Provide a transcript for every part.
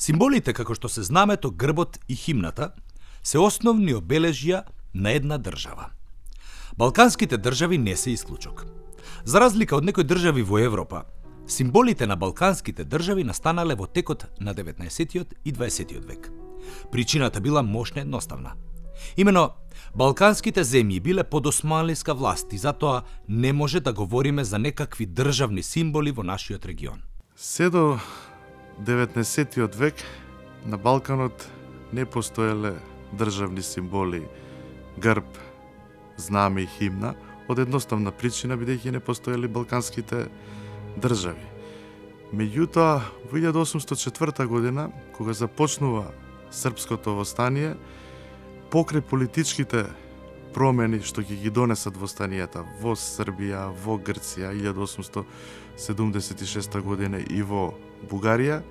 Символите, како што се знамето, грбот и химната, се основни обележја на една држава. Балканските држави не се исклучок. За разлика од некои држави во Европа, символите на балканските држави настанале во текот на 19 и 20 век. Причината била мощно едноставна. Имено, балканските земји биле под османлиска власт и затоа не може да говориме за некакви државни символи во нашиот регион. Се до 19 век на Балканот не постоеле државни символи, грб, знаме и химна, од едноставна причина бидејќи не постоеле балканските држави. Меѓутоа, во 1804 година, кога започнува српското востание, покрај политичките промени што ќе ги донесат востанијата во Србија, во Грција 1876 година и во Бугарија,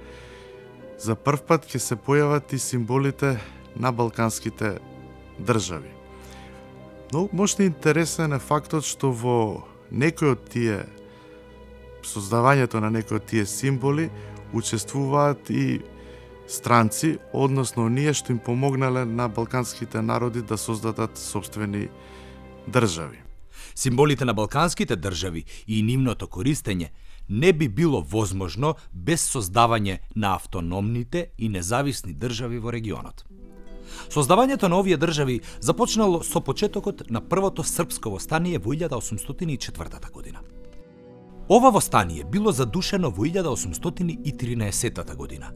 за прв пат ќе се појават и символите на балканските држави. Но можда интересен е фактот што во некои од тие создавањето на некои од тие символи учествуваат и странци, односно оние што им помогнале на балканските народи да создадат сопствени држави. Символите на балканските држави и нивното користење не би било возможно без создавање на автономните и независни држави во регионот. Создавањето на овие држави започнало со почетокот на првото српско востание во 1804 година. Ова востание било задушено во 1813 година,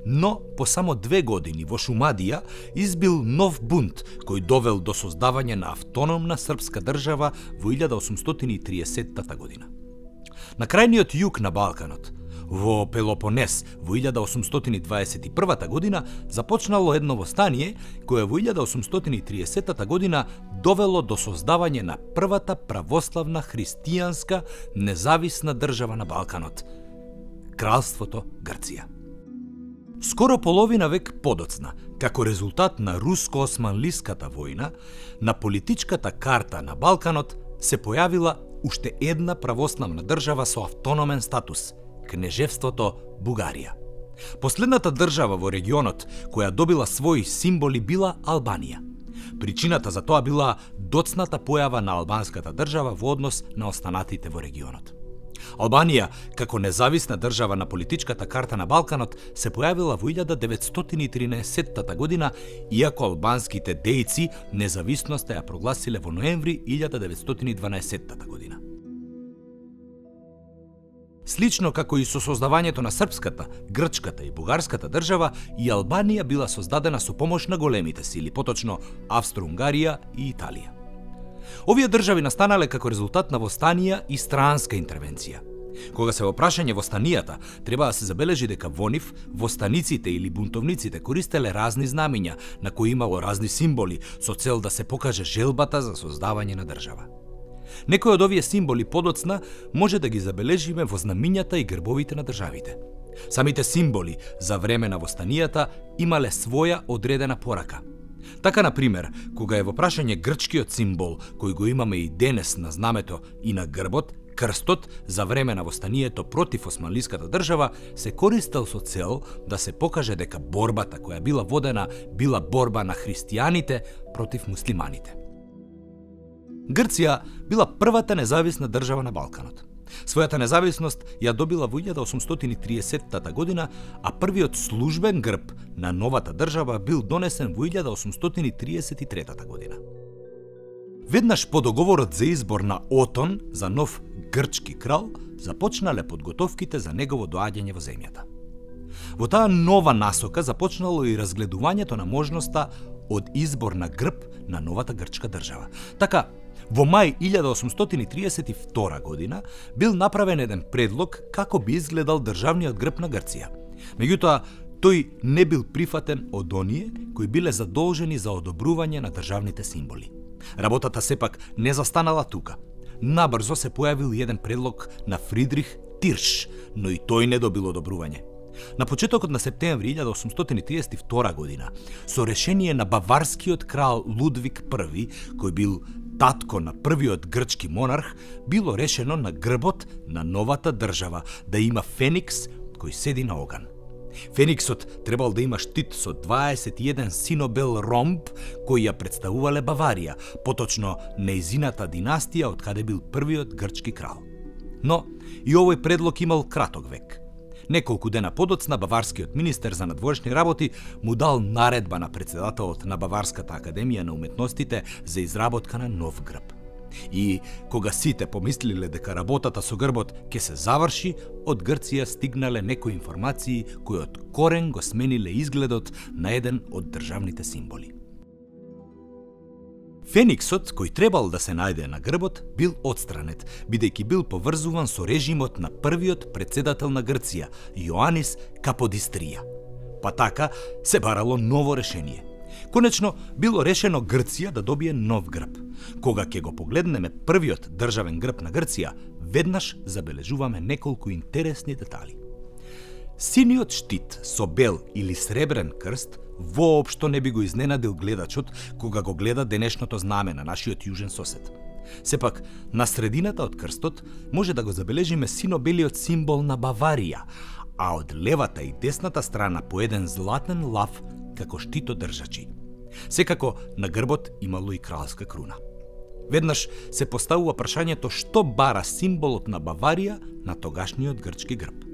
но по само 2 години во Шумадија избил нов бунт кој довел до создавање на автономна српска држава во 1830 година. На крајниот југ на Балканот, во Пелопонес во 1821 година започнало едно востание кое во 1830 година довело до создавање на првата православна христијанска независна држава на Балканот – Кралството Грција. Скоро половина век подоцна, како резултат на руско-османлиската војна, на политичката карта на Балканот се појавила уште една православна држава со автономен статус – Кнежевството Бугарија. Последната држава во регионот која добила своји символи била Албанија. Причината за тоа била доцната појава на албанската држава во однос на останатите во регионот. Албанија, како независна држава на политичката карта на Балканот, се појавила во 1913 година, иако албанските дејци независноста ја прогласиле во ноември 1912 година. Слично како и со создавањето на српската, грчката и бугарската држава, и Албанија била создадена со помош на големите сили, поточно Австро-Унгарија и Италија. Овие држави настанале како резултат на востанија и странска интервенција. Кога се во прашање востанијата, треба да се забележи дека во нив востаниците или бунтовниците користеле разни знамиња на кои имало разни символи со цел да се покаже желбата за создавање на држава. Некои од овие символи подоцна може да ги забележиме во знамињата и грбовите на државите. Самите символи за време на востанијата имале своја одредена порака. Така, например, кога е во прашање грчкиот символ, кој го имаме и денес на знамето и на грбот, крстот за време на востанието против османлиската држава, се користел со цел да се покаже дека борбата која била водена била борба на христијаните против муслиманите. Грција била првата независна држава на Балканот. Својата независност ја добила во 1830 година, а првиот службен грб на новата држава бил донесен во 1833 година. Веднаш по договорот за избор на Отон за нов грчки крал, започнале подготовките за негово доаѓање во земјата. Во таа нова насока започнало и разгледувањето на можноста од избор на грб на новата грчка држава. Така, во мај 1832 година бил направен еден предлог како би изгледал државниот грб на Грција. Меѓутоа, тој не бил прифатен од оние кои биле задолжени за одобрување на државните символи. Работата сепак не застанала тука. Набрзо се појавил еден предлог на Фридрих Тирш, но и тој не добил одобрување. На почетокот на септември 1832 година, со решение на баварскиот крал Лудвиг I, кој бил татко на првиот грчки монарх, било решено на грбот на новата држава да има феникс кој седи на оган. Фениксот требал да има штит со 21 синобел ромб кои ја представувале Баварија, поточно нејзината династија од каде бил првиот грчки крал. Но и овој предлог имал краток век. Неколку дена подоцна баварскиот министер за надворешни работи му дал наредба на председателот на Баварската академија на уметностите за изработка на нов грб. И кога сите помислиле дека работата со грбот ќе се заврши, од Грција стигнале некои информации кои од корен го смениле изгледот на еден од државните символи. Фениксот, кој требал да се најде на грбот, бил отстранет, бидејќи бил поврзуван со режимот на првиот председател на Грција, Јоанис Каподистрија. Па така се барало ново решение. Конечно, било решено Грција да добие нов грб. Кога ќе го погледнеме првиот државен грб на Грција, веднаш забележуваме неколку интересни детали. Синиот штит со бел или сребрен крст воопшто не би го изненадил гледачот кога го гледа денешното знаме на нашиот јужен сосед. Сепак, на средината од крстот може да го забележиме синобелиот символ на Баварија, а од левата и десната страна по еден златен лав како штитодржачи. Секако на грбот имало и кралска круна. Веднаш се поставува прашањето што бара символот на Баварија на тогашниот грчки грб.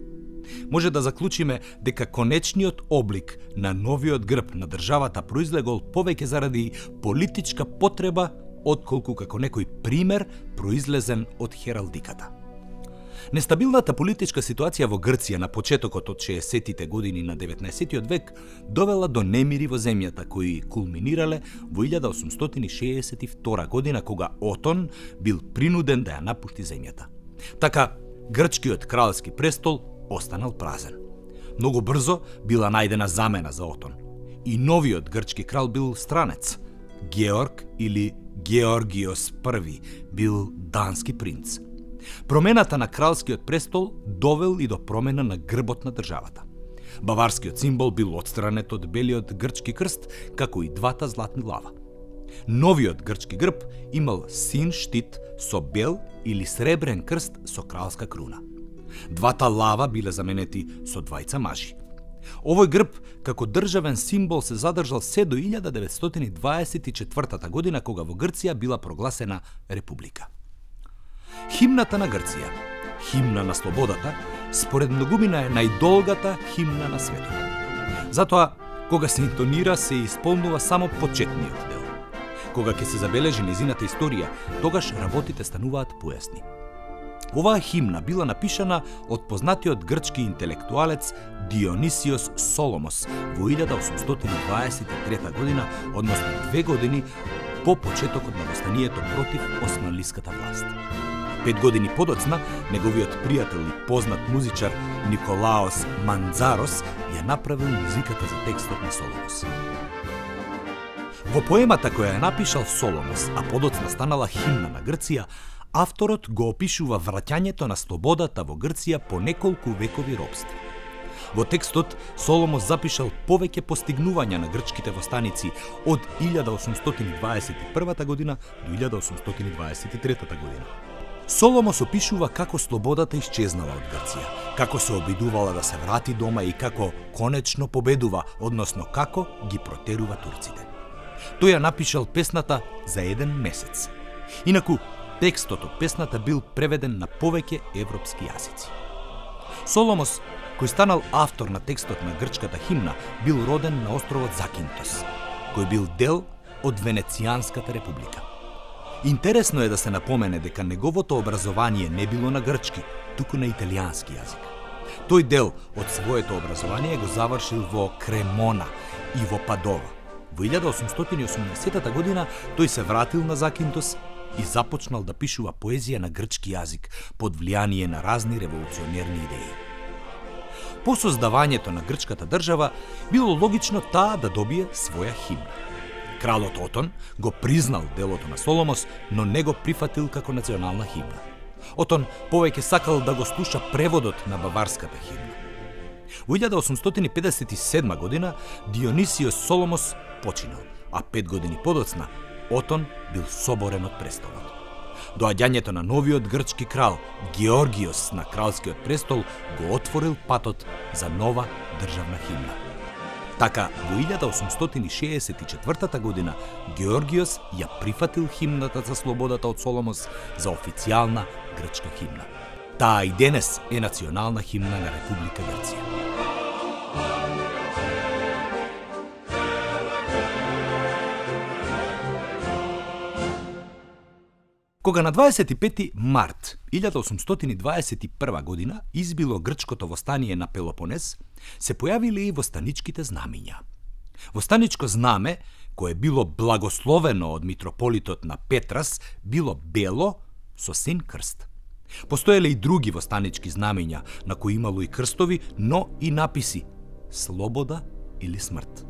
Може да заклучиме дека конечниот облик на новиот грб на државата произлегол повеќе заради политичка потреба отколку како некој пример произлезен од хералдиката. Нестабилната политичка ситуација во Грција на почетокот од 60-тите години на 19-тиот век довела до немири во земјата кои кулминирале во 1862 година кога Отон бил принуден да ја напушти земјата. Така, грчкиот кралски престол останал празен. Многу брзо била најдена замена за Отон. И новиот грчки крал бил странец. Георг или Георгиос I бил дански принц. Промената на кралскиот престол довел и до промена на грбот на државата. Баварскиот символ бил отстранет од белиот грчки крст, како и двата златни лава. Новиот грчки грб имал син штит со бел или сребрен крст со кралска круна. Двата лава биле заменети со двајца мажи. Овој грб како државен символ се задржал се до 1924 година кога во Грција била прогласена република. Химната на Грција, химна на слободата, според многумина е најдолгата химна на светот. Затоа, кога се интонира, се исполнува само почетниот дел. Кога ќе се забележи незината историја, тогаш работите стануваат појасни. Оваа химна била напишана од познатиот грчки интелектуалец Дионисиос Соломос во 1823 година, односно 2 години по почетокот на востанието против османлиската власт. 5 години подоцна, неговиот пријател и познат музичар Николаос Мандзарос ја направил музиката за текстот на Соломос. Во поемата која ја напишал Соломос, а подоцна станала химна на Грција, авторот го опишува враќањето на слободата во Грција по неколку векови робство. Во текстот Соломос запишал повеќе постигнувања на грчките востаници од 1821 година до 1823 година. Соломос опишува како слободата исчезнала од Грција, како се обидувала да се врати дома и како конечно победува, односно како ги протерува турците. Тој ја напишал песната за 1 месец. Инаку, текстот од песната бил преведен на повеќе европски јазици. Соломос, кој станал автор на текстот на грчката химна, бил роден на островот Закинтос, кој бил дел од Венецијанската република. Интересно е да се напомене дека неговото образование не било на грчки, туку на италијански јазик. Тој дел од своето образование го завршил во Кремона и во Падова. Во 1880 година тој се вратил на Закинтос и започнал да пишува поезија на грчки јазик под влијание на разни револуционерни идеи. По создавањето на грчката држава било логично таа да добие своја химна. Кралот Отон го признал делото на Соломос, но не го прифатил како национална химна. Отон повеќе сакал да го слуша преводот на баварската химна. Во 1857 година Дионисиос Соломос починал, а 5 години подоцна Отон бил соборен од престолот. Доаѓањето на новиот грчки крал Георгиос на кралскиот престол го отворил патот за нова државна химна. Така, во 1864 година Георгиос ја прифатил химната за слободата од Соломос за официјална грчка химна. Таа и денес е национална химна на Република Грција. Кога на 25 март 1821 година избило грчкото востание на Пелопонез, се појавиле и востаничките знамиња. Востаничко знаме, кое било благословено од митрополитот на Петрас, било бело со син крст. Постоеле и други востанички знамиња, на кои имало и крстови, но и написи слобода или смрт.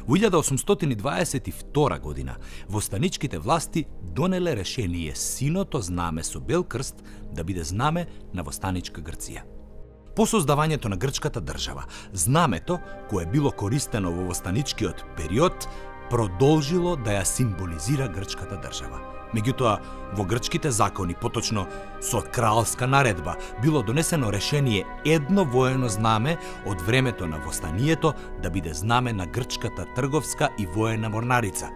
Во 1822 година востаничките власти донеле решение синото знаме со бел крст да биде знаме на востаничка Грција. По создавањето на грчката држава, знамето, кое било користено во востаничкиот период, продолжило да ја символизира грчката држава. Меѓутоа, во грчките закони, поточно со кралска наредба, било донесено решение едно воено знаме од времето на востанието да биде знаме на грчката трговска и воена морнарица.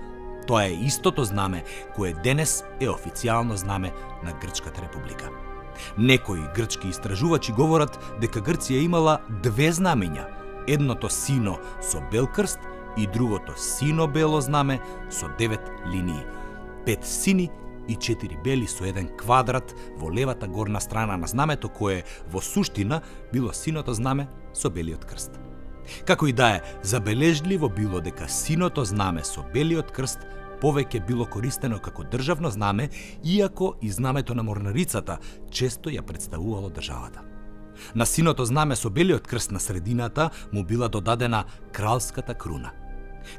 Тоа е истото знаме кое денес е официјално знаме на Грчката република. Некои грчки истражувачи говорат дека Грција имала две знамиња, едното сино со бел крст и другото сино-бело знаме со 9 линии. 5 сини и 4 бели со еден квадрат во левата горна страна на знамето, кое во суштина било синото знаме со белиот крст. Како и да е, забележливо било дека синото знаме со белиот крст повеќе било користено како државно знаме, иако и знамето на морнарицата често ја представувало државата. На синото знаме со белиот крст на средината му била додадена кралската круна.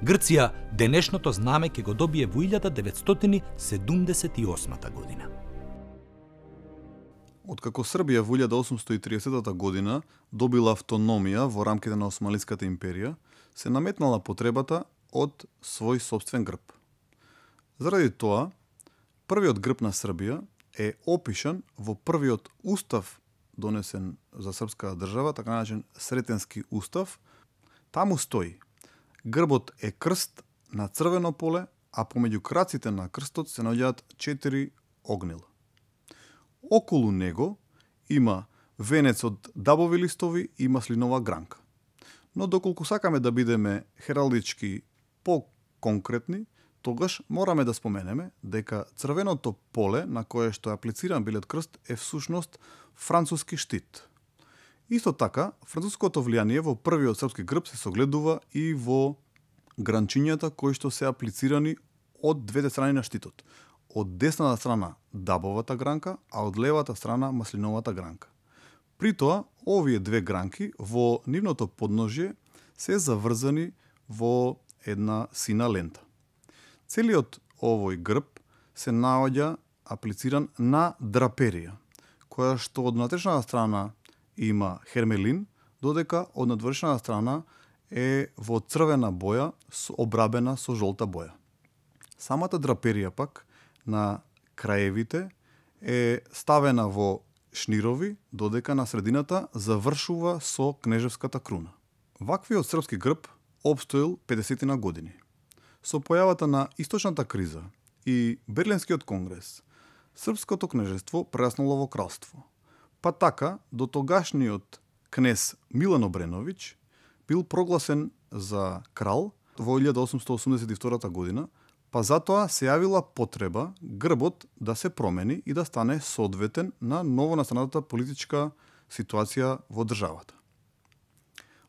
Грција денешното знаме ќе го добие во 1978 година. Откако Србија во 1830 година добила автономија во рамките на Османлиската империја, се наметнала потребата од свој сопствен грб. Заради тоа, првиот грб на Србија е опишан во првиот устав донесен за српската држава, така наречен Сретенски устав. Таму стои: грбот е крст на црвено поле, а помеѓу краците на крстот се наоѓаат 4 огнила. Околу него има венец од дабови листови и маслинова гранка. Но доколку сакаме да бидеме хералдички по-конкретни, тогаш мораме да споменеме дека црвеното поле на кое што е аплициран белиот крст е всушност француски штит. Исто така, француското влијание во првиот српски грб се согледува и во гранчињата кои што се аплицирани од двете страни на штитот. Од десната страна дабовата гранка, а од левата страна маслиновата гранка. При тоа, овие две гранки во нивното подножје се заврзани во една сина лента. Целиот овој грб се наоѓа аплициран на драперија, која што од внатрешната страна има хермелин, додека од надвршната страна е во црвена боја обрабена со жолта боја. Самата драперија пак на краевите е ставена во шнирови, додека на средината завршува со кнежевската круна. Ваквиот српски грб опстоил 50 на години. Со појавата на источната криза и Берлинскиот конгрес, српското кнежество прераснало во кралство. Па така, до тогашниот кнез Милан Обреновиќ бил прогласен за крал во 1882 година, па затоа се јавила потреба грбот да се промени и да стане соодветен на новонастанатата политичка ситуација во државата.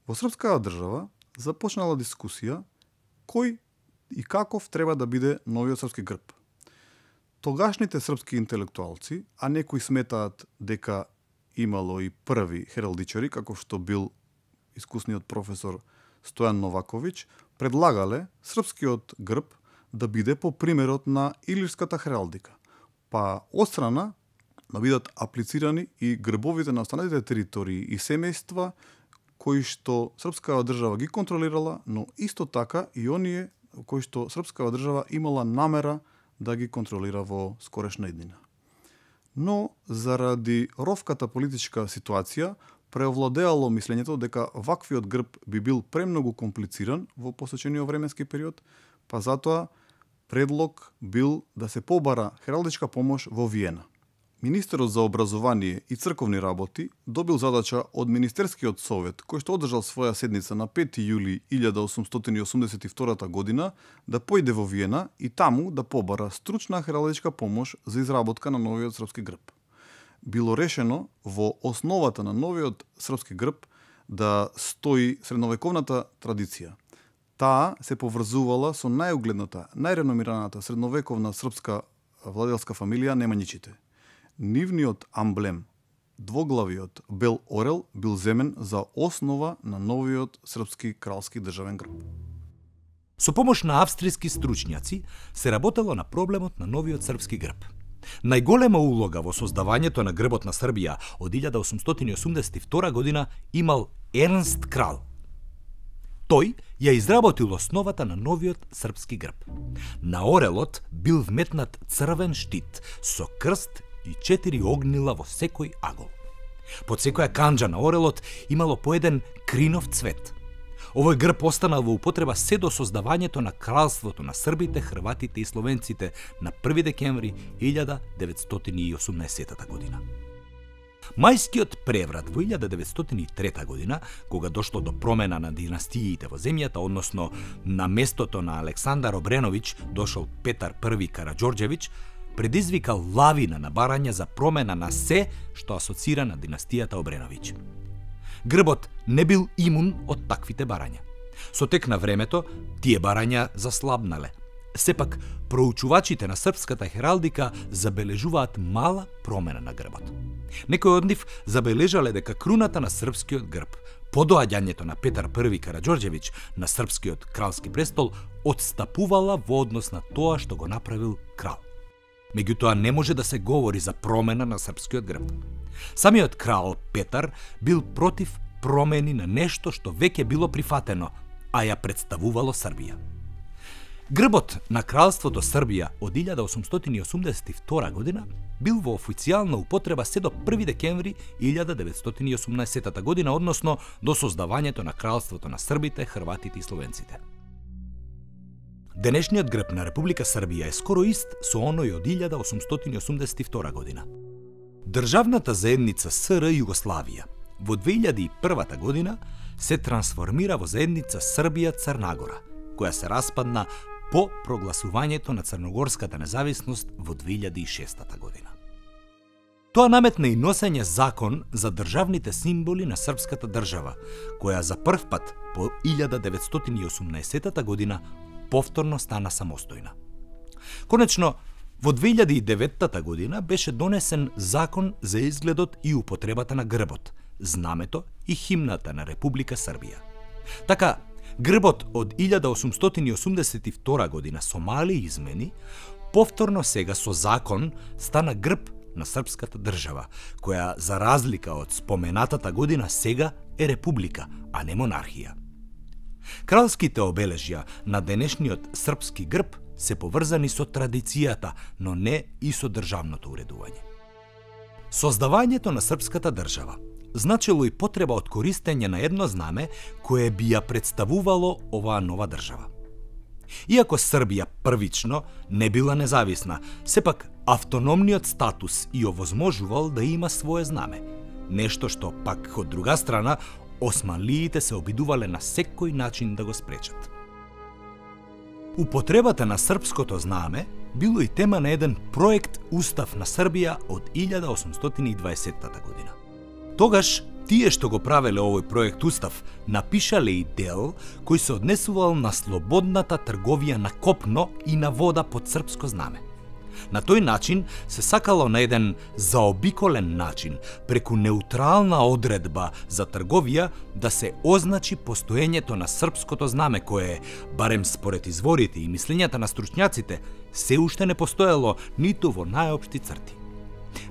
Во српската држава започнала дискусија кој и каков треба да биде новиот српски грб. Тогашните српски интелектуалци, а некои сметаат дека имало и први хералдичари, како што бил искусниот професор Стојан Новаковиќ, предлагале српскиот грб да биде по примерот на илирската хералдика, па отстрана да бидат аплицирани и грбовите на останатите територии и семејства кои што српската држава ги контролирала, но исто така и оние кои што српската држава имала намера да ги контролира во скорешна иднина. но заради ровката политичка ситуација преовладеало мислењето дека ваквиот грб би бил премногу комплициран во посочениот временски период, па затоа предлог бил да се побара хералдичка помош во Виена. Министерот за образование и црковни работи добил задача од Министерскиот совет, кој што одржал своја седница на 5 јули 1882 година, да појде во Виена и таму да побара стручна хералдичка помош за изработка на новиот српски грб. Било решено во основата на новиот српски грб да стои средновековната традиција. Таа се поврзувала со најугледната, најреномираната средновековна српска владелска фамилија Немањичите. Нивниот амблем, двоглавиот бел орел, бил земен за основа на новиот српски кралски државен грб. Со помош на австријски стручњаци се работело на проблемот на новиот српски грб. Најголема улога во создавањето на грбот на Србија од 1882 година имал Ернст Крал. Тој ја изработил основата на новиот српски грб. На орелот бил вметнат црвен штит со крст и 4 огнила во секој агол. Под секоја канџа на орелот имало по еден кринов цвет. Овој грб останал во употреба се до создавањето на кралството на србите, хрватите и словенците на 1 декември 1918 година. Мајскиот преврат во 1903 година, кога дошло до промена на династиите во земјата, односно на местото на Александар Обреновиќ дошол Петар I Караџорџевиќ, предизвикал лавина на барања за промена на се што асоцира на династијата Обреновиќ. Грбот не бил имун од таквите барања. Со тек на времето, тие барања заслабнале. Сепак, проучувачите на српската хералдика забележуваат мала промена на грбот. Некои од нив забележале дека круната на српскиот грб, по доаѓањето на Петар I Караџорџевиќ на српскиот кралски престол, одстапувала во однос на тоа што го направил крал. Меѓутоа не може да се говори за промена на српскиот грб. Самиот крал Петар бил против промени на нешто што веќе било прифатено, а ја представувало Србија. Грбот на кралството Србија од 1882 година бил во официјална употреба се до 1 декември 1918 година, односно до создавањето на кралството на србите, хрватите и словенците. Денешниот грб на Република Србија е скоро ист со оној од 1882 година. Државната заедница СР Југославија во 2001 година се трансформира во заедница Србија-Црнагора, која се распадна по прогласувањето на црногорската независност во 2006 година. Тоа наметна и носење закон за државните символи на српската држава, која за прв пат по 1918 година повторно стана самостојна. Конечно, во 2009 година беше донесен закон за изгледот и употребата на грбот, знамето и химната на Република Србија. Така, грбот од 1882 година со мали измени, повторно сега со закон стана грб на српската држава, која за разлика од споменатата година сега е република, а не монархија. Кралските обележја на денешниот српски грб се поврзани со традицијата, но не и со државното уредување. Создавањето на српската држава значило и потреба од користење на едно знаме кое би ја представувало оваа нова држава. Иако Србија првично не била независна, сепак автономниот статус и овозможувал да има свое знаме, нешто што пак од друга страна османлиите се обидувале на секој начин да го спречат. Употребата на српското знаме било и тема на еден проект Устав на Србија од 1820 година. Тогаш, тие што го правеле овој проект Устав, напишале и дел кој се однесувал на слободната трговија на копно и на вода под српско знаме. На тој начин се сакало на еден заобиколен начин, преку неутрална одредба за трговија, да се означи постоењето на српското знаме кое, барем според изворите и мислењата на стручњаците, се уште не постоело ниту во најопшти црти.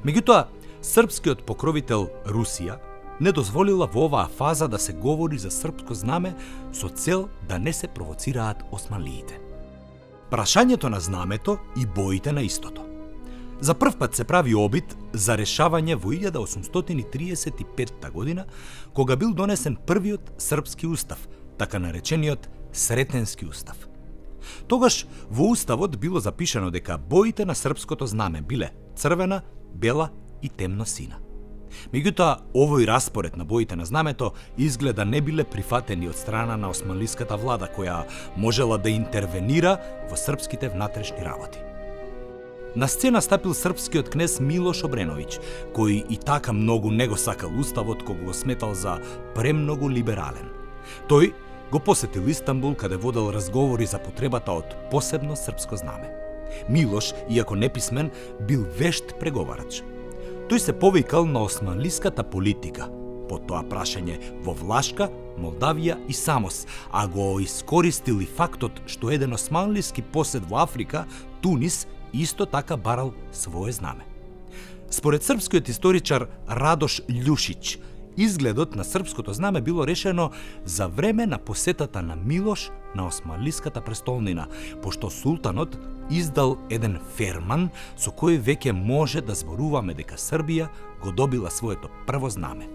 Меѓутоа, српскиот покровител Русија не дозволила во оваа фаза да се говори за српско знаме со цел да не се провоцираат османлиите. Прашањето на знамето и боите на истото. За прв пат се прави обид за решавање во 1835 година, кога бил донесен првиот српски устав, така наречениот Сретенски устав. Тогаш во уставот било запишано дека боите на српското знаме биле црвена, бела и темно сина. Меѓутоа, овој распоред на боите на знамето изгледа не биле прифатени од страна на османлиската влада, која можела да интервенира во српските внатрешни работи. На сцена стапил српскиот кнез Милош Обреновиќ, кој и така многу не го сакал уставот, кога го сметал за премногу либерален. Тој го посетил Истанбул, каде водел разговори за потребата од посебно српско знаме. Милош, иако неписмен, бил вешт преговарач. Тој се повикал на османлиската политика, по тоа прашање во Влашка, Молдавија и Самос, а го искористил и фактот што еден османлиски посед во Африка, Тунис, исто така барал свое знаме. Според српскиот историчар Радош Љушиć, изгледот на српското знаме било решено за време на посетата на Милош на османлиската престолнина, пошто султанот издал еден ферман со кој веќе може да зборуваме дека Србија го добила своето прво знаме.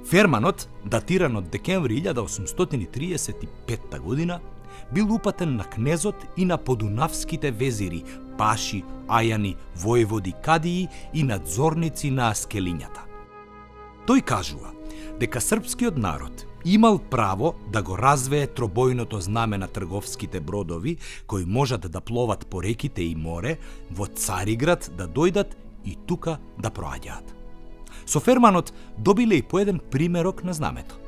Ферманот, датиран од декември 1835 година, бил упатен на кнезот и на подунавските везири, паши, ајани, воеводи, кадии и надзорници на аскелињата. Тој кажува дека српскиот народ имал право да го развее тробојното знаме на трговските бродови кои можат да пловат по реките и море, во Цариград да дојдат и тука да проаѓаат. Со ферманот добиле и по еден примерок на знамето.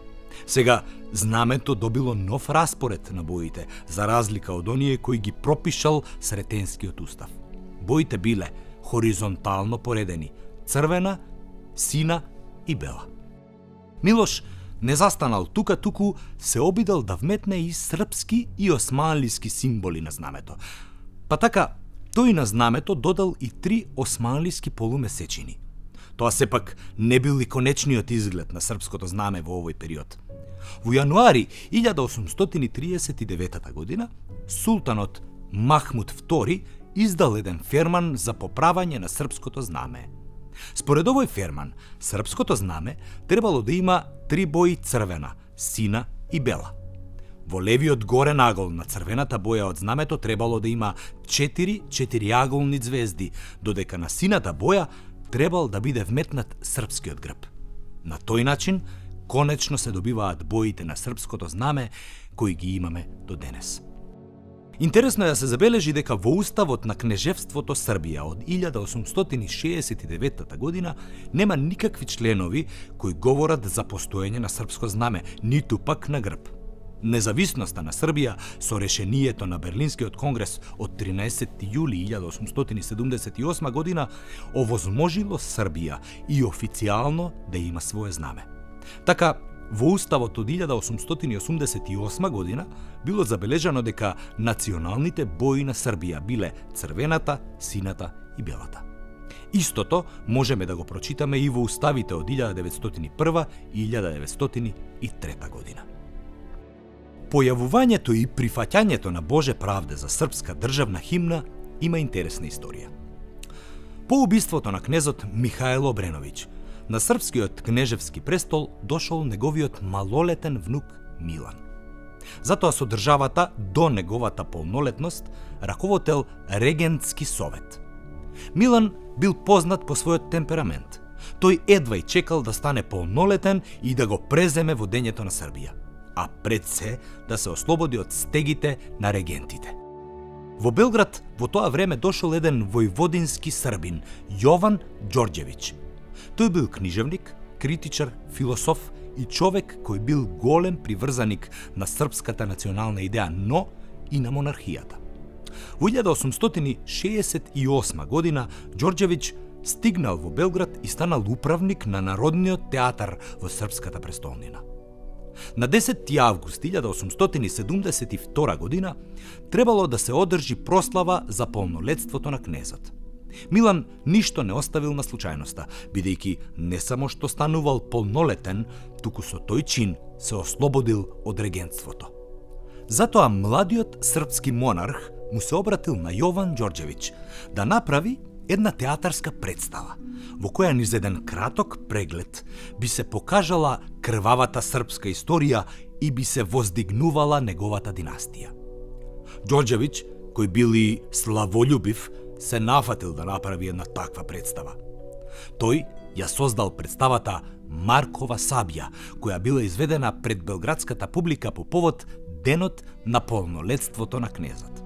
Сега, знамето добило нов распоред на боите, за разлика од оние кои ги пропишал Сретенскиот устав. Боите биле хоризонтално поредени, црвена, сина и бела. Милош не застанал тука, туку се обидел да вметне и српски и османлиски символи на знамето. Па така, тој на знамето додал и 3 османлиски полумесечини. Тоа сепак не бил и конечниот изглед на српското знаме во овој период. Во јануари 1839 година, султанот Махмуд II издал еден ферман за поправање на српското знаме. Според овој ферман, српското знаме требало да има 3 бои црвена, сина и бела. Во левиот горен агол на црвената боја од знамето требало да има 4 четириаголни звезди, додека на сината боја требал да биде вметнат српскиот грб. На тој начин, конечно се добиваат боите на српското знаме кои ги имаме до денес. Интересно е да се забележи дека во уставот на кнежевството Србија од 1869 година нема никакви членови кои говорат за постоење на српско знаме, ниту пак на грб. Независноста на Србија со решението на Берлинскиот конгрес од 13 јули 1878 година овозможило Србија и официјално да има свое знаме. Така, во уставот од 1888 година било забележано дека националните бои на Србија биле црвената, сината и белата. Истото можеме да го прочитаме и во уставите од 1901 и 1903 година. Појавувањето и прифаќањето на Боже правде за српска државна химна има интересна историја. По убиството на кнезот Михајло Обреновиќ, на српскиот кнежевски престол дошол неговиот малолетен внук Милан. Затоа со државата до неговата полнолетност раководел регентски совет. Милан бил познат по својот темперамент. Тој едва и чекал да стане полнолетен и да го преземе водењето на Србија, а пред се да се ослободи од стегите на регентите. Во Белград во тоа време дошол еден војводински србин, Јован Ѓорѓевиќ. Тој бил книжевник, критичар, философ и човек кој бил голем приврзаник на српската национална идеја, но и на монархијата. Во 1868 година Ѓорѓевиќ стигнал во Белград и станал управник на Народниот театар во српската престолнина. На 10. август 1872 година требало да се одржи прослава за полнолетството на кнезот. Милан ништо не оставил на случајноста, бидејќи не само што станувал полнолетен, туку со тој чин се ослободил од регентството. Затоа младиот српски монарх му се обратил на Јован Ѓорѓевиќ да направи една театарска представа, во која низ еден краток преглед би се покажала крвавата српска историја и би се воздигнувала неговата династија. Ѓорѓевиќ, кој бил и славолюбив, се нафатил да направи една таква представа. Тој ја создал представата Маркова сабја, која била изведена пред белградската публика по повод денот на полнолетството на кнезот.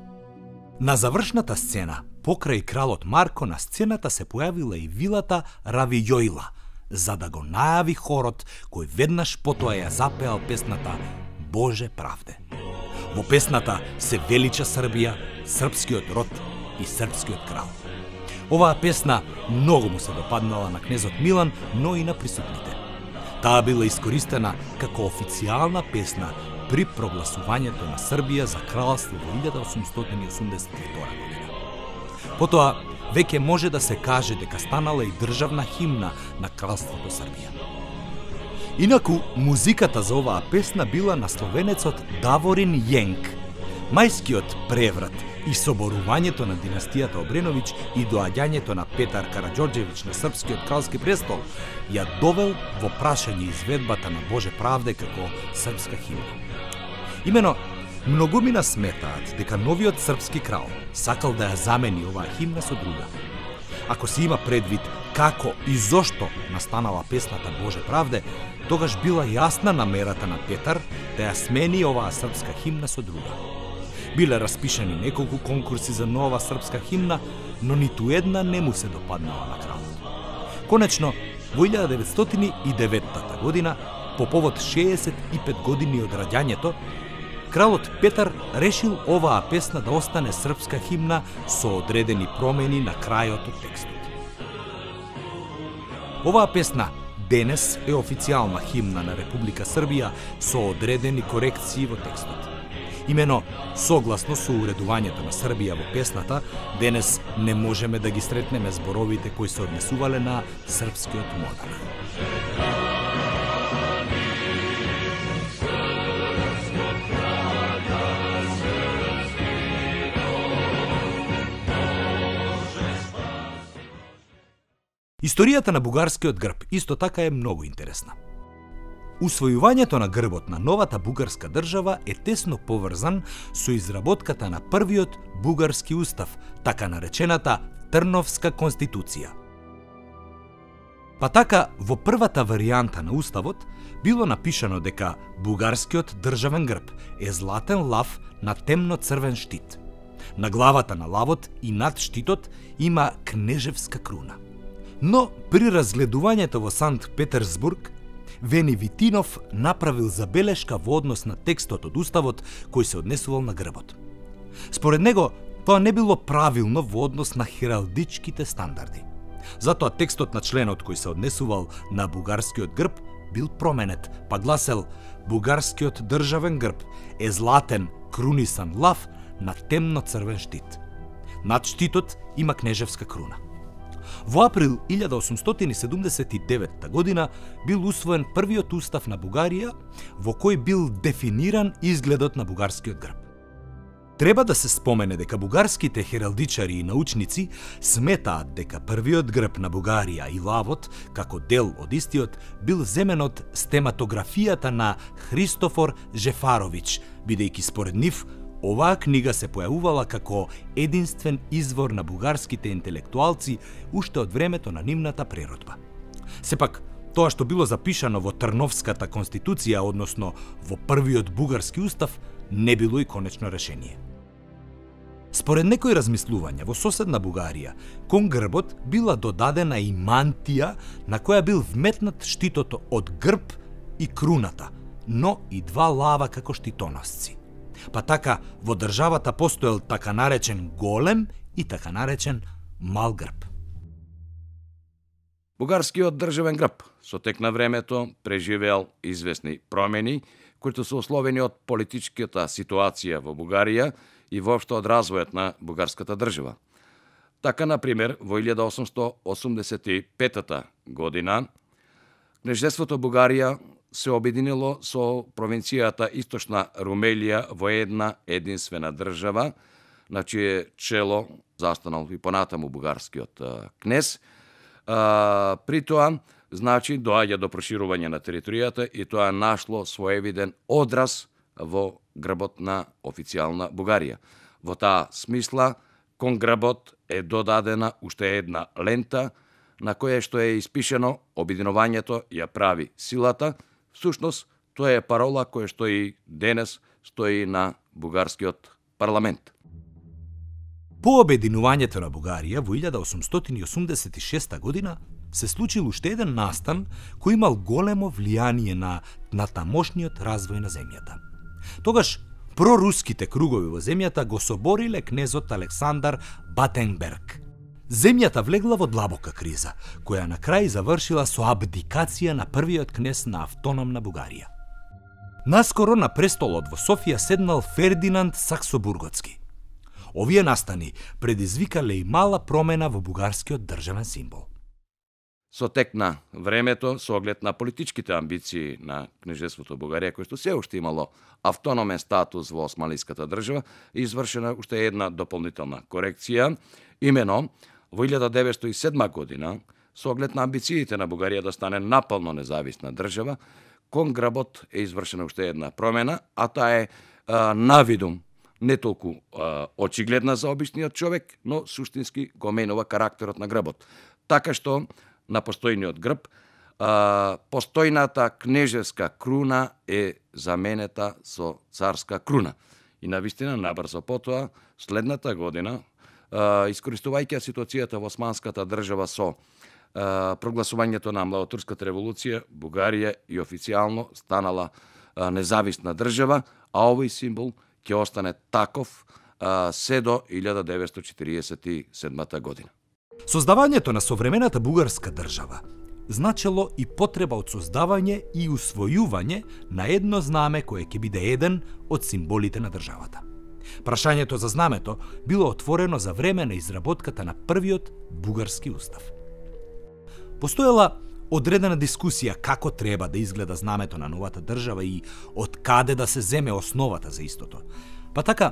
На завршната сцена, покрај кралот Марко, на сцената се појавила и вилата Равијојла, за да го најави хорот кој веднаш потоа ја запеал песната Боже правде. Во песната се велича Србија, српскиот род и српскиот крал. Оваа песна многу му се допаднала на кнезот Милан, но и на присутните. Таа била искористена како официјална песна при прогласувањето на Србија за кралство во 1882 година. Потоа, веќе може да се каже дека станала и државна химна на кралството Србија. Инаку, музиката за оваа песна била на словенецот Даворин Јенк. Мајскиот преврат и соборувањето на династијата Обреновиќ и доаѓањето на Петар Караѓорđević на српскиот кралски престол ја довел во прашање изведбата на Боже правде како српска химна. Имено, многумина сметаат дека новиот српски крал сакал да ја замени оваа химна со друга. Ако се има предвид како и зошто настанала песната Боже правде, тогаш била јасна намерата на Петар да ја смени оваа српска химна со друга. Биле распишани неколку конкурси за нова српска химна, но ниту една не му се допаднала на кралот. Конечно, во 1909 година, по повод 65 години од раѓањето, кралот Петар решил оваа песна да остане српска химна со одредени промени на крајот од текстот. Оваа песна денес е официјална химна на Република Србија со одредени корекции во текстот. Имено, согласно со уредувањето на Србија во песната, денес не можеме да ги сретнеме зборовите кои се однесувале на српскиот монарх. Историјата на бугарскиот грб исто така е многу интересна. Усвојувањето на грбот на новата бугарска држава е тесно поврзан со изработката на првиот бугарски устав, така наречената Трновска конституција. Па така, во првата варијанта на уставот било напишано дека бугарскиот државен грб е златен лав на темно-црвен штит. На главата на лавот и над штитот има кнежевска круна. Но при разгледувањето во Санкт Петерсбург, Вени Витинов направил забелешка во однос на текстот од уставот кој се однесувал на грбот. Според него, тоа не било правилно во однос на хералдичките стандарди. Затоа текстот на членот кој се однесувал на бугарскиот грб бил променет, па гласел: бугарскиот државен грб е златен крунисан лав на темно-црвен штит. Над штитот има кнежевска круна. Во април 1879 година бил усвоен првиот устав на Бугарија, во кој бил дефиниран изгледот на бугарскиот грб. Треба да се спомене дека бугарските хералдичари и научници сметаат дека првиот грб на Бугарија и лавот, како дел од истиот, бил земен од стематографијата на Христофор Жефаровиќ, бидејќи според нив оваа книга се појавувала како единствен извор на бугарските интелектуалци уште од времето на нивната преродба. Сепак, тоа што било запишано во Трновската конституција, односно во првиот бугарски устав, не било и конечно решение. Според некои размислувања, во соседна Бугарија, кон грбот била додадена и мантија на која бил вметнат штитото од грб и круната, но и два лава како штитоносци. Па така, во државата постоел така наречен голем и така наречен мал грб. Бугарскиот државен грб со тек на времето преживеал известни промени, кои се условени од политичката ситуација во Бугарија и воопшто од развојот на бугарската држава. Така, например, во 1885 година, кнежеството Бугарија се обединило со провинцијата Источна Румелија во една единствена држава, на чие чело застанал и понатаму бугарскиот кнез. При тоа, значи, доаѓа до проширување на територијата и тоа нашло своевиден одраз во грбот на официјална Бугарија. Во таа смисла, кон грбот е додадена уште една лента на која што е испишено обединувањето ја прави силата. Всушност, тоа е парола која што и денес стои на бугарскиот парламент. По обединувањето на Бугарија во 1886 година се случил уште еден настан кој имал големо влијание на тамошниот развој на земјата. Тогаш проруските кругови во земјата го собориле кнезот Александар Батенберг. Земјата влегла во длабока криза, која на крај завршила со абдикација на првиот кнез на автономна Бугарија. Наскоро на престолот во Софија седнал Фердинанд Саксобурготски. Овие настани предизвикале и мала промена во бугарскиот државен символ. Со тек на времето, со оглед на политичките амбиции на кнежеството Бугарија, кој што се уште имало автономен статус во османлиската држава, извршена уште една дополнителна корекција, имено во 1907 година, со оглед на амбициите на Бугарија да стане напълно независна држава, кон грбот е извршена уште една промена, а таа е навидум не толку очигледна за обичниот човек, но суштински го менува карактерот на грбот. Така што на постојниот грб постојната кнежевска круна е заменета со царска круна. И навистина набрзо потоа, следната година, искористувајќи ситуацијата во османската држава со прогласувањето на Младотурската револуција, Бугарија и официјално станала независна држава, а овој символ ќе остане таков се до 1947 година. Создавањето на современата бугарска држава значело и потреба од создавање и усвојување на едно знаме кое ќе биде еден од символите на државата. Прашањето за знамето било отворено за време на изработката на првиот бугарски устав. Постоела одредена дискусија како треба да изгледа знамето на новата држава и од каде да се земе основата за истото. Па така,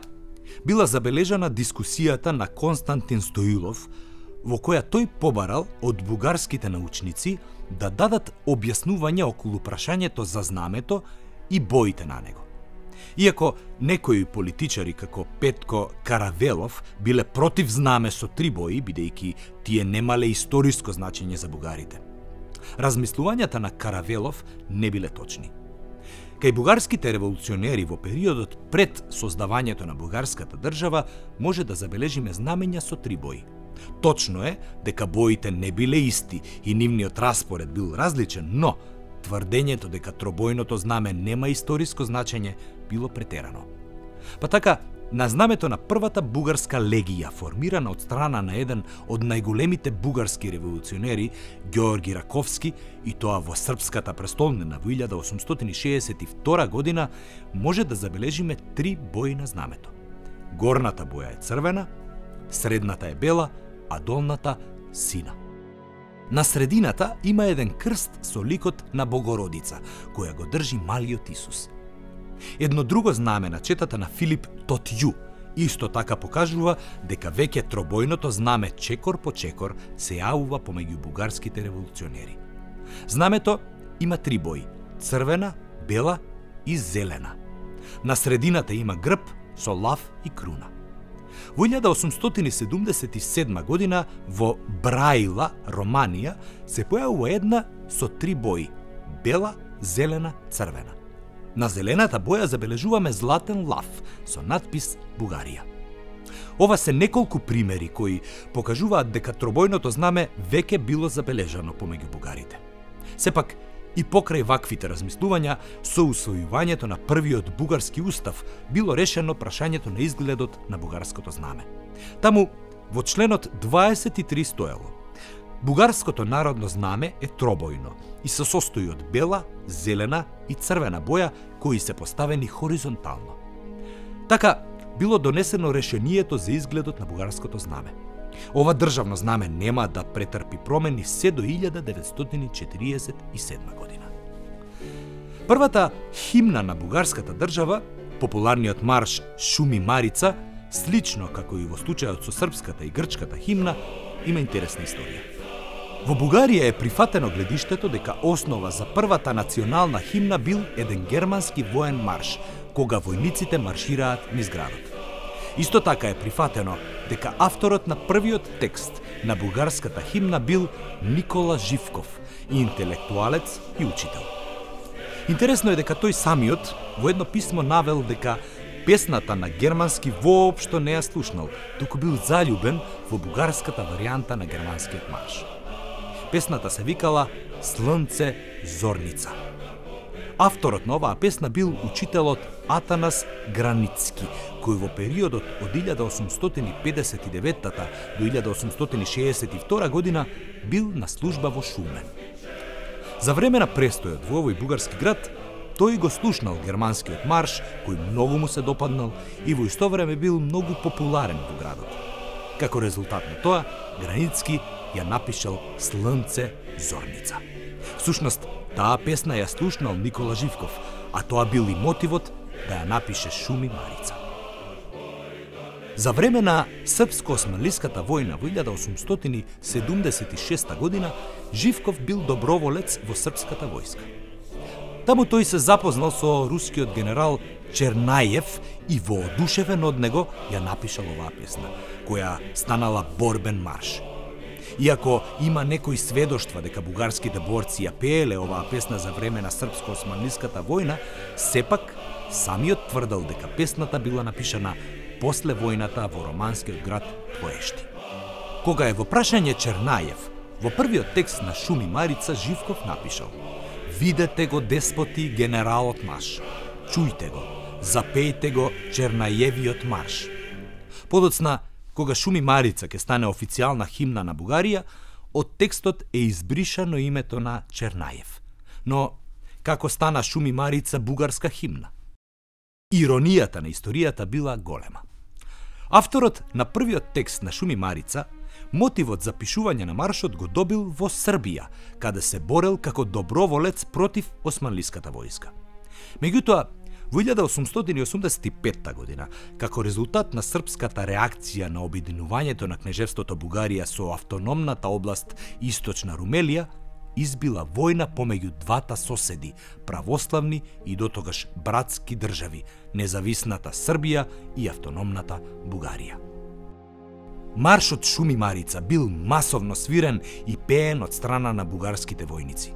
била забележана дискусијата на Константин Стоилов, во која тој побарал од бугарските научници да дадат објаснување околу прашањето за знамето и боите на него. Иако некои политичари како Петко Каравелов биле против знаме со 3 бои, бидејќи тие немале историско значење за бугарите. Размислувањата на Каравелов не биле точни. Кај бугарските револуционери во периодот пред создавањето на бугарската држава може да забележиме знамења со 3 бои. Точно е дека боите не биле исти и нивниот распоред бил различен, но тврдењето дека тробојното знаме нема историско значење било претерано. Па така, на знамето на првата бугарска легија, формирана од страна на еден од најголемите бугарски револуционери, Ѓеорги Раковски, и тоа во српската престолнина во 1862 година, може да забележиме 3 бои на знамето. Горната боја е црвена, средната е бела, а долната сина. На средината има еден крст со ликот на Богородица, која го држи малиот Исус. Едно друго знаме на четата на Филип Тотју исто така покажува дека веќе тробојното знаме чекор по чекор се јавува помеѓу бугарските револуционери. Знамето има 3 бои: црвена, бела и зелена. На средината има грб со лав и круна. Во 1877 година во Браила, Романија, се појавува една со 3 бои: бела, зелена, црвена. На зелената боја забележуваме златен лав со надпис Бугарија. Ова се неколку примери кои покажуваат дека тробојното знаме веќе било забележано помеѓу бугарите. Сепак, и покрај ваквите размислувања, со усвојувањето на првиот бугарски устав било решено прашањето на изгледот на бугарското знаме. Таму, во членот 23 стоело: бугарското народно знаме е тробојно и се состои од бела, зелена и црвена боја кои се поставени хоризонтално. Така, било донесено решението за изгледот на бугарското знаме. Ова државно знаме нема да претрпи промени се до 1947 година. Првата химна на бугарската држава, популарниот марш Шуми Марица, слично како и во случајот со српската и грчката химна, има интересна историја. Во Бугарија е прифатено гледиштето дека основа за првата национална химна бил еден германски воен марш, кога војниците маршираат низ градот. Исто така е прифатено дека авторот на првиот текст на бугарската химна бил Никола Живков, интелектуалец и учител. Интересно е дека тој самиот во едно писмо навел дека песната на германски воопшто не ја слушнал, туку бил заљубен во бугарската варијанта на германскиот марш. Песната се викала Слънце зорница. Авторот на оваа песна бил учителот Атанас Границки, кој во периодот од 1859 до 1862 година бил на служба во Шумен. За време на престојот во овој бугарски град, тој го слушнал германскиот марш, кој многу му се допаднал и во исто време бил многу популарен во градот. Како резултат на тоа, Границки ја напишал Слънце зорница. Всушност, таа песна ја слушнал Никола Живков, а тоа бил и мотивот да ја напише Шуми Марица. За време на српско-османлиската војна во 1876 година, Живков бил доброволец во српската војска. Таму тој се запознал со рускиот генерал Чернајев и воодушевен од него ја напишал оваа песна, која станала борбен марш. Иако има некои сведоштва дека бугарските борци ја пееле оваа песна за време на српско-османлиската војна, сепак самиот тврдел дека песната била напишана после војната во романскиот град Поешти. Кога е во прашање Чернајев, во првиот текст на Шуми Марица Живков напишал: "Видете го, деспоти, генералот наш, чујте го, запејте го Чернајевиот марш." Подоцна, кога Шуми Марица ќе стане официјална химна на Бугарија, од текстот е избришано името на Чернајев. Но како стана Шуми Марица бугарска химна? Иронијата на историјата била голема. Авторот на првиот текст на Шуми Марица мотивот за пишување на маршот го добил во Србија, каде се борел како доброволец против османлиската војска. Меѓутоа, во 1885 година, како резултат на српската реакција на обединувањето на кнежевството Бугарија со автономната област Источна Румелија, избила војна помеѓу двата соседи, православни и дотогаш братски држави, независната Србија и автономната Бугарија. Маршот Шуми Марица бил масовно свирен и пеен од страна на бугарските војници.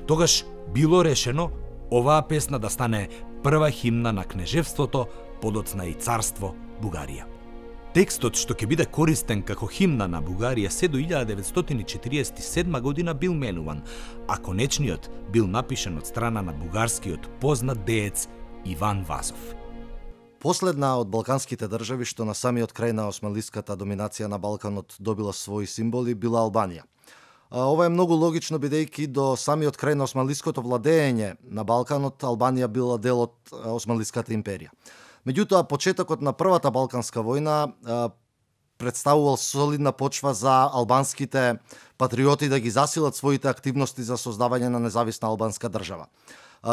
Тогаш било решено оваа песна да стане прва химна на кнежевството, подоцна и царство Бугарија. Текстот што ќе биде користен како химна на Бугарија се до 1947 година бил менуван, а конечниот бил напишан од страна на бугарскиот познат деец Иван Вазов. Последна од балканските држави што на самиот крај на османлиската доминација на Балканот добила своји символи била Албанија. Ова е многу логично бидејќи до самиот крај на османлиското владење на Балканот Албанија била дел од Османлиската империја. Меѓутоа, почетокот на Првата Балканска војна представувал солидна почва за албанските патриоти да ги засилат своите активности за создавање на независна албанска држава.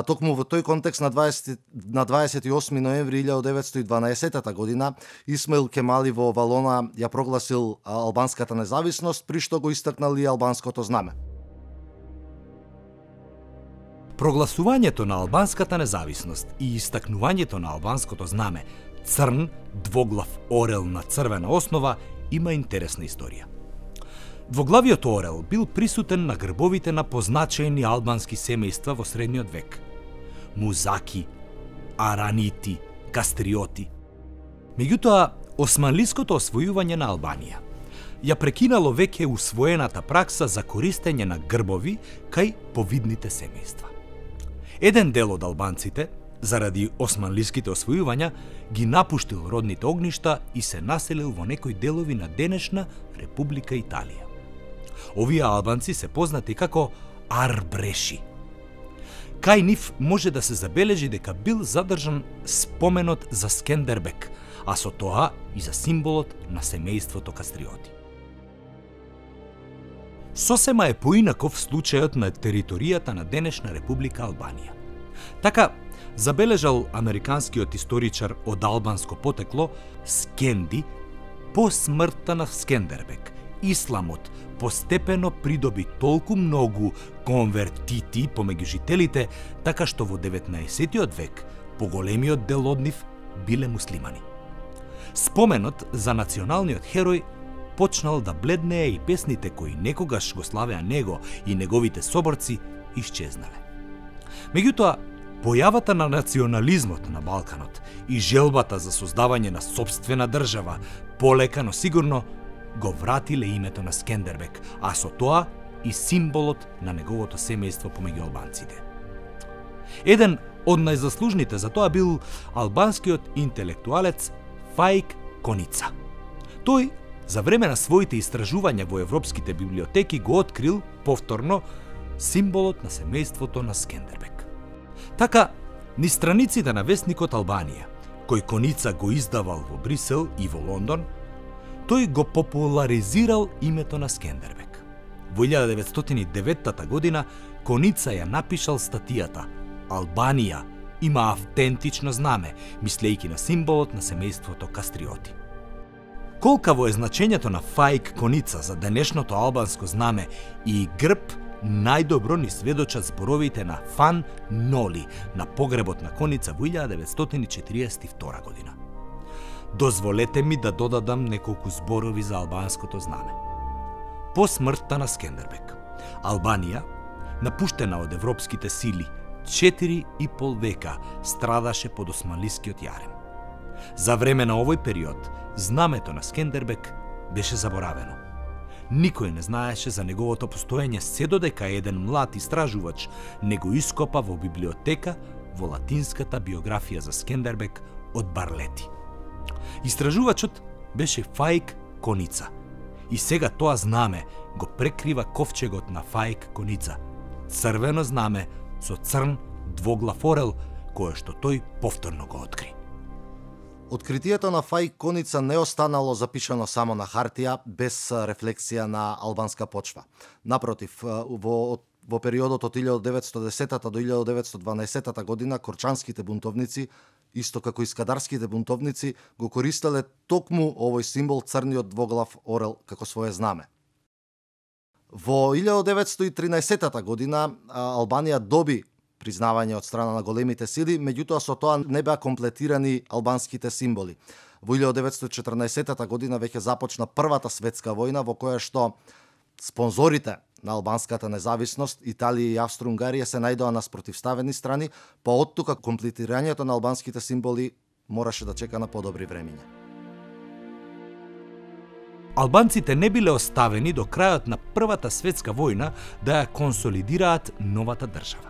Токму во тој контекст на 28 ноември 1912 година Исмаил Кемали во Валона ја прогласил албанската независност, при што го истакнал и албанското знаме. Прогласувањето на албанската независност и истакнувањето на албанското знаме, црн, двоглав орел на црвена основа, има интересна историја. Двоглавиот орел бил присутен на грбовите на позначајни албански семејства во средниот век. Музаки, Аранити, Кастриоти. Меѓутоа, османлиското освојување на Албанија ја прекинало веќе усвоената пракса за користење на грбови кај повидните семејства. Еден дел од албанците, заради османлиските освојувања, ги напуштил родните огништа и се населил во некои делови на денешна Република Италија. Овие албанци се познати како арбреши. Кај нив може да се забележи дека бил задржан споменот за Скендербек, а со тоа и за символот на семејството Кастриоти. Сосема е поинаков случајот на територијата на денешна Република Албанија. Така, Забележал американскиот историчар од албанско потекло Скенди, по смртта на Скендербек, исламот постепено придоби толку многу конвертити помеѓу жителите, така што во 19 век поголемиот дел од нив биле муслимани. Споменот за националниот херој почнал да бледнее и песните кои некогаш го славеа него и неговите соборци исчезнале. Меѓутоа, појавата на национализмот на Балканот и желбата за создавање на сопствена држава полека, но сигурно го вратиле името на Скендербек, а со тоа и символот на неговото семејство помеѓу албанците. Еден од најзаслужните за тоа бил албанскиот интелектуалец Фаик Коница. Тој за време на своите истражувања во европските библиотеки го открил повторно символот на семејството на Скендербек. Така, низ страниците на весникот Албанија, кој Коница го издавал во Брисел и во Лондон, тој го популаризирал името на Скендербек. Во 1909 година Коница ја напишал статијата «Албанија има автентично знаме», мислејќи на символот на семејството Кастриоти. Колкаво е значењето на Фаик Коница за денешното албанско знаме и грб, најдобро ни сведочат зборовите на Фан Ноли на погребот на Коница во 1942 година. Дозволете ми да додадам неколку зборови за албанското знаме. По смртта на Скендербек, Албанија, напуштена од европските сили, 4,5 века страдаше под османлискиот јарем. За време на овој период, знамето на Скендербек беше заборавено. Никој не знаеше за неговото постоење се додека еден млад истражувач не го ископа во библиотека во латинската биографија за Скендербек од Барлети. Истражувачот беше Фаик Коница и сега тоа знаме го прекрива ковчегот на Фаик Коница, црвено знаме со црн двоглав орел, кое што тој повторно го откри. Откритието на Фаик Коница не останало запишано само на хартија без рефлексија на албанска почва. Напротив, во периодот од 1910 до 1912 година корчанските бунтовници, исто како и скадарските бунтовници, го користеле токму овој символ црниот двоглав орел како свое знаме. Во 1913 година Албанија доби признавање од страна на големите сили, меѓутоа со тоа не беа комплетирани албанските символи. Во 1914 година веќе започна Првата светска војна, во која што спонзорите на албанската независност, Италија и Австро-Унгарија, се најдоа на спротивставени страни, па оттука комплетирањето на албанските символи мораше да чека на подобри времиња. Албанците не биле оставени до крајот на Првата светска војна да ја консолидираат новата држава.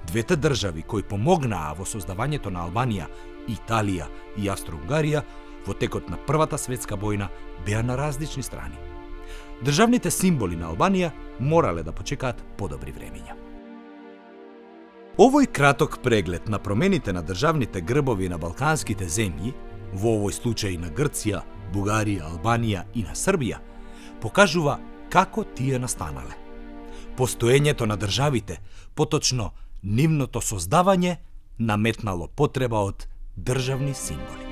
Двете држави кои помогнаа во создавањето на Албанија, Италија и Австро-Унгарија, во текот на Првата светска војна беа на различни страни. Државните символи на Албанија морале да почекаат подобри времиња. Овој краток преглед на промените на државните грбови на балканските земји, во овој случај на Грција, Бугарија, Албанија и на Србија, покажува како тие настанале. Постоењето на државите, поточно нивното создавање, наметнало потреба од државни символи.